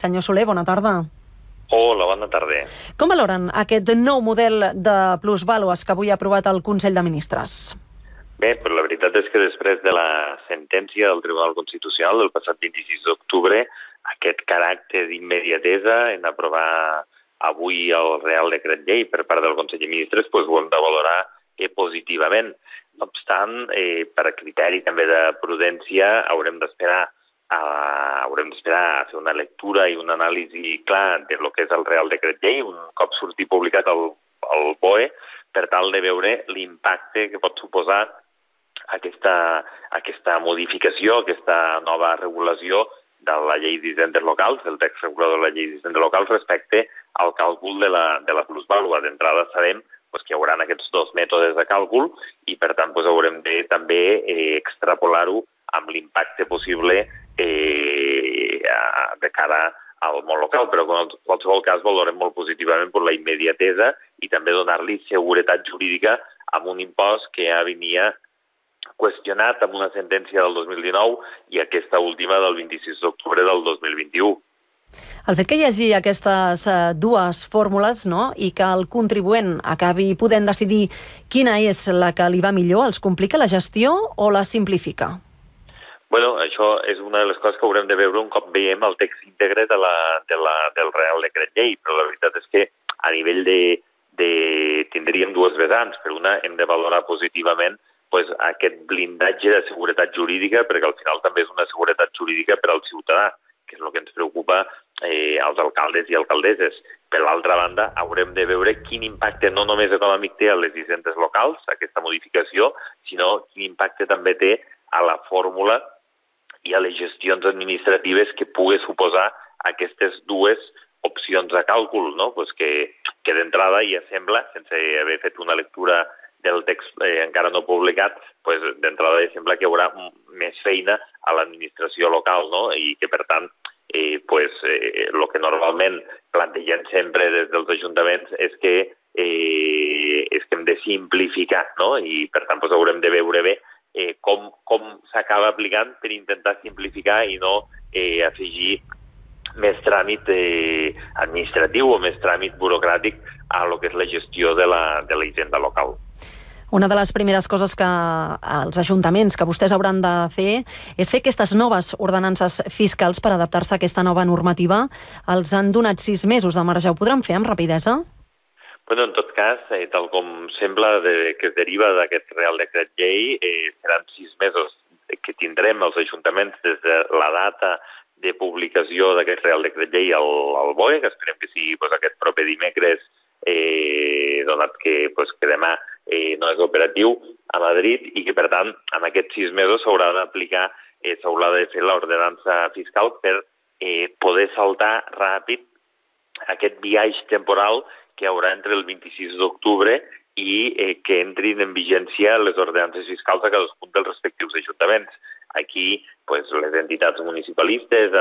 Senyor Soler, bona tarda. Hola, bona tarda. Com valoren aquest nou model de plusvàlues que avui ha aprovat el Consell de Ministres? Bé, però la veritat és que després de la sentència del Tribunal Constitucional del passat 26 d'octubre, aquest caràcter d'immediatesa en aprovar avui el Real Decret Llei per part del Consell de Ministres ho hem de valorar positivament. No obstant, per a criteri també de prudència, haurem d'esperar a fer una lectura i una anàlisi clar de lo que és el Real Decret Llei, un cop surti publicat el BOE, per tal de veure l'impacte que pot suposar aquesta modificació, aquesta nova regulació de la llei d'hisendes locals, del text regulador de la llei d'hisendes locals respecte al càlcul de la plusvàlua. D'entrada sabem que hi haurà aquests dos mètodes de càlcul i, per tant, haurem de també extrapolar-ho amb l'impacte possible de cara al món local, però en qualsevol cas valorem molt positivament per la immediatesa i també donar-li seguretat jurídica amb un impost que ja venia qüestionat amb una sentència del 2019 i aquesta última del 26 d'octubre del 2021. El fet que hi hagi aquestes dues fórmules, no?, i que el contribuent acabi podent decidir quina és la que li va millor, els complica la gestió o la simplifica? Bueno, això és una de les coses que haurem de veure un cop veiem el text íntegre del Real Decret Llei, però la veritat és que a nivell tindríem dues vessants. Per una, hem de valorar positivament aquest blindatge de seguretat jurídica, perquè al final també és una seguretat jurídica per al ciutadà, que és el que ens preocupa als alcaldes i alcaldesses. Per l'altra banda, haurem de veure quin impacte no només econòmic té a les hisendes locals, aquesta modificació, sinó quin impacte també té a la fórmula i a les gestions administratives que pugui suposar aquestes dues opcions de càlcul, no? Que d'entrada ja sembla, sense haver fet una lectura del text encara no publicat, d'entrada ja sembla que hi haurà més feina a l'administració local, no? I que, per tant, el que normalment plantegem sempre des dels ajuntaments és que hem de simplificar, no? I, per tant, haurem de veure bé com s'acaba aplicant per intentar simplificar i no afegir més tràmit administratiu o més tràmit burocràtic a lo que és la gestió de la hisenda local. Una de les primeres coses que els ajuntaments que vostès hauran de fer és fer aquestes noves ordenances fiscals per adaptar-se a aquesta nova normativa. Els han donat 6 mesos de marge. Ho podran fer amb rapidesa? En tot cas, tal com sembla que es deriva d'aquest Real Decret Llei, seran 6 mesos que tindrem els ajuntaments des de la data de publicació d'aquest Real Decret Llei al BOE, que esperem que sigui aquest proper dimecres, donat que demà no és operatiu a Madrid i que, per tant, en aquests 6 mesos s'haurà d'aplicar, s'haurà de fer l'ordenança fiscal per poder saltar ràpid aquest biaix temporal que hi haurà entre el 26 d'octubre i que entrin en vigència les ordenances fiscals a cadascun dels respectius ajuntaments. Aquí, les entitats municipalistes,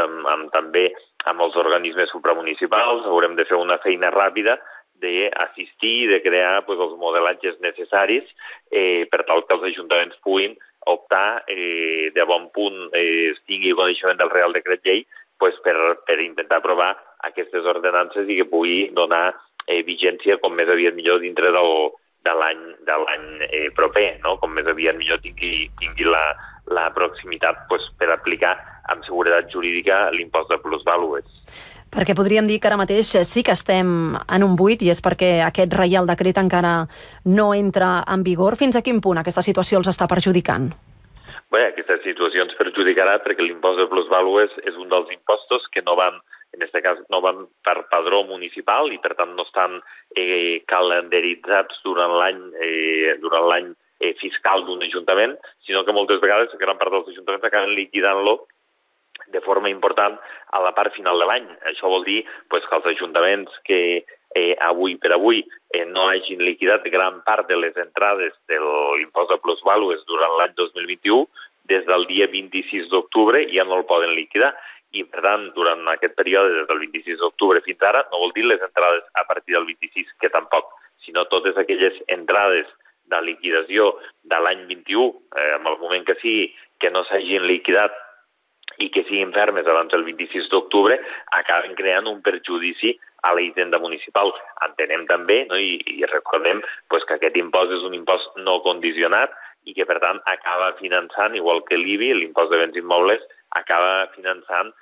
també amb els organismes supramunicipals, haurem de fer una feina ràpida d'assistir i de crear els modelatges necessaris per tal que els ajuntaments puguin optar de bon punt, tingui coneixement del Real Decret Llei, per intentar aprovar aquestes ordenances i que pugui donar vigència com més aviat millor dintre de l'any proper, no? Com més aviat millor tingui la proximitat per aplicar amb seguretat jurídica l'impost de plusvàlues. Perquè podríem dir que ara mateix sí que estem en un buit i és perquè aquest Reial Decret encara no entra en vigor. Fins a quin punt aquesta situació els està perjudicant? Bé, aquesta situació ens perjudicarà perquè l'impost de plusvàlues és un dels impostos que no van, en aquest cas, no van per padró municipal i, per tant, no estan calendaritzats durant l'any fiscal d'un ajuntament, sinó que moltes vegades gran part dels ajuntaments acaben liquidant-lo de forma important a la part final de l'any. Això vol dir que els ajuntaments que avui per avui no hagin liquidat gran part de les entrades de l'impost de plusvàlues durant l'any 2021, des del dia 26 d'octubre ja no el poden liquidar. I, per tant, durant aquest període, des del 26 d'octubre fins ara, no vol dir les entrades a partir del 26, que tampoc, sinó totes aquelles entrades de liquidació de l'any 21, en el moment que sigui, que no s'hagin liquidat i que siguin fermes abans del 26 d'octubre, acaben creant un perjudici a la hisenda municipal. Entenem també, no, i recordem pues, que aquest impost és un impost no condicionat i que, per tant, acaba finançant, igual que l'IBI, l'impost de béns immobles, acaba finançant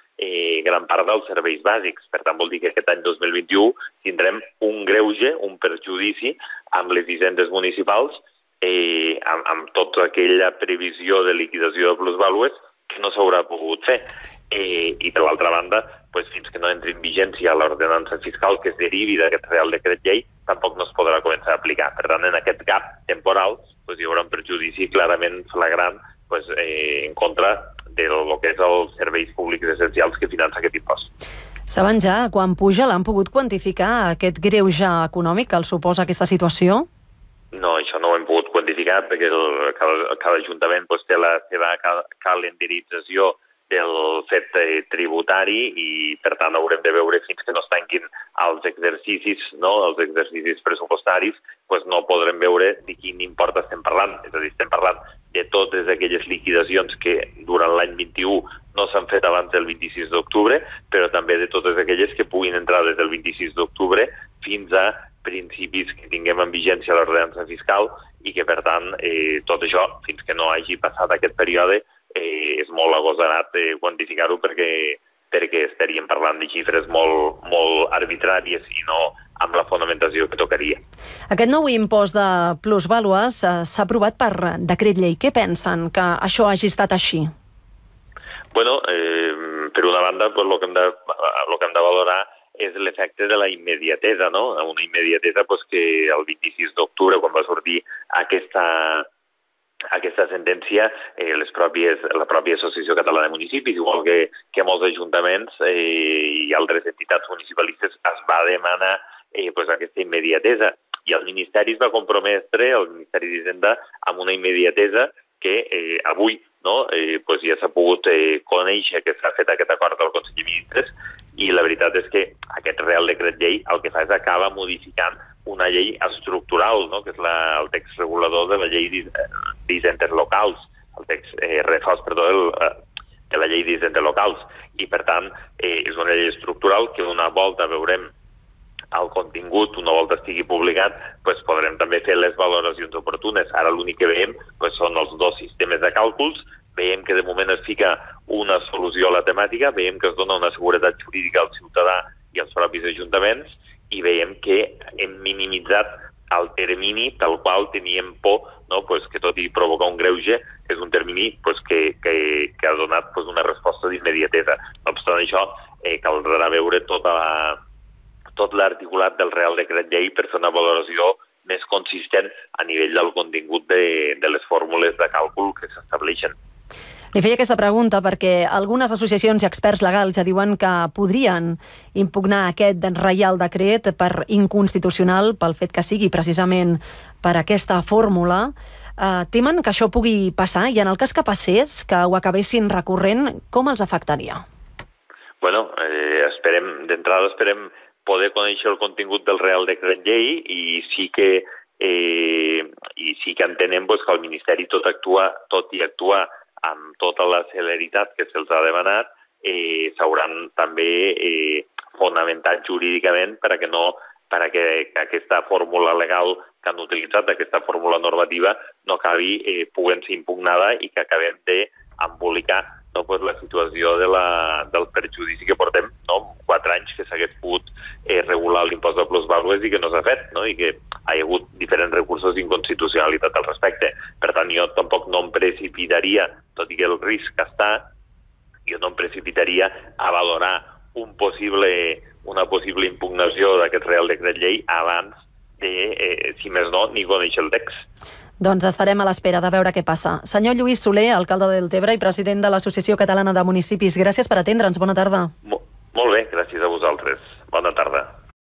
gran part dels serveis bàsics. Per tant, vol dir que aquest any 2021 tindrem un greuge, un perjudici amb les hisendes municipals, amb tota aquella previsió de liquidació de plusvàlues que no s'haurà pogut fer. I per l'altra banda, fins que no entri en vigència l'ordenança fiscal que es derivi d'aquest Real Decret Llei, tampoc no es podrà començar a aplicar. Per tant, en aquest gap temporal hi haurà un perjudici clarament flagrant en contra del que és els serveis públics essencials que finança aquest impost. Saben ja quan puja? L'han pogut quantificar, aquest greuge econòmic que el suposa aquesta situació? No, això no ho hem pogut quantificar perquè cada ajuntament té la seva calendarització del fet tributari i, per tant, haurem de veure fins que no es tanquin els exercicis, els exercicis pressupostaris, no podrem veure de quin import estem parlant. És a dir, estem parlant de totes aquelles liquidacions que durant l'any 21 no s'han fet abans del 26 d'octubre, però també de totes aquelles que puguin entrar des del 26 d'octubre fins a principis que tinguem en vigència l'ordenança fiscal i que, per tant, tot això, fins que no hagi passat aquest període, és molt agosarat quantificar-ho perquè estaríem parlant de xifres molt arbitràries i no amb la fonamentació que tocaria. Aquest nou impost de plusvàlues s'ha aprovat per decret llei. Què pensen que això hagi estat així? Bueno, per una banda, el que hem de valorar és l'efecte de la immediatesa, no? Una immediatesa que el 26 d'octubre, quan va sortir aquesta sentència, la pròpia Associació Catalana de Municipis, igual que molts ajuntaments i altres entitats municipalistes, es va demanar aquesta immediatesa. I el Ministeri es va comprometre, el Ministeri d'Hisenda, amb una immediatesa que avui ja s'ha pogut conèixer que s'ha fet aquest acord del Consell de Ministres i la veritat és que aquest Real Decret Llei el que fa és acaba modificant una llei estructural, que és el text regulador de la llei d'hisendes locals, el text refós, de la llei d'hisendes locals. I, per tant, és una llei estructural que una volta veurem el contingut, una volta estigui publicat, podrem també fer les valoracions oportunes. Ara l'únic que veiem són els dos sistemes de càlculs, veiem que de moment es fica una solució a la temàtica, veiem que es dona una seguretat jurídica al ciutadà i als propis ajuntaments i veiem que hem minimitzat el termini pel qual teníem por, que tot i provocar un greuge, és un termini que ha donat una resposta d'immediatesa. No obstant això, caldrà veure tot l'articulat del Real Decret Llei per fer una valoració més consistent a nivell del contingut de les fórmules de càlcul que s'estableixen. Li feia aquesta pregunta perquè algunes associacions i experts legals ja diuen que podrien impugnar aquest Reial Decret per inconstitucional pel fet que sigui precisament per aquesta fórmula. Temen que això pugui passar i en el cas que passés, que ho acabessin recorrent, com els afectaria? Bueno, d'entrada esperem poder conèixer el contingut del Real Decret Llei i sí que entenem que el Ministeri, tot i actuar amb tota la celeritat que se'ls ha demanat, s'hauran també fonamentat jurídicament perquè aquesta fórmula legal que han utilitzat, aquesta fórmula normativa, no acabi podent ser impugnada i que acabem d'embolicar la situació del perjudici que portem 4 anys que s'hagués pogut regular l'impost de plusvàlues i que no s'ha fet, i que hi ha hagut diferents recursos d'inconstitucionalitat al respecte. Per tant, jo tampoc no em precipitaria, tot i que el risc està, jo no em precipitaria a valorar una possible impugnació d'aquest Real Decret Llei abans de, si més no, ni conèixer el text. Doncs estarem a l'espera de veure què passa. Senyor Lluís Soler, alcalde de Deltebre i president de l'Associació Catalana de Municipis, gràcies per atendre'ns. Bona tarda. Molt bé, gràcies a vosaltres. Bona tarda.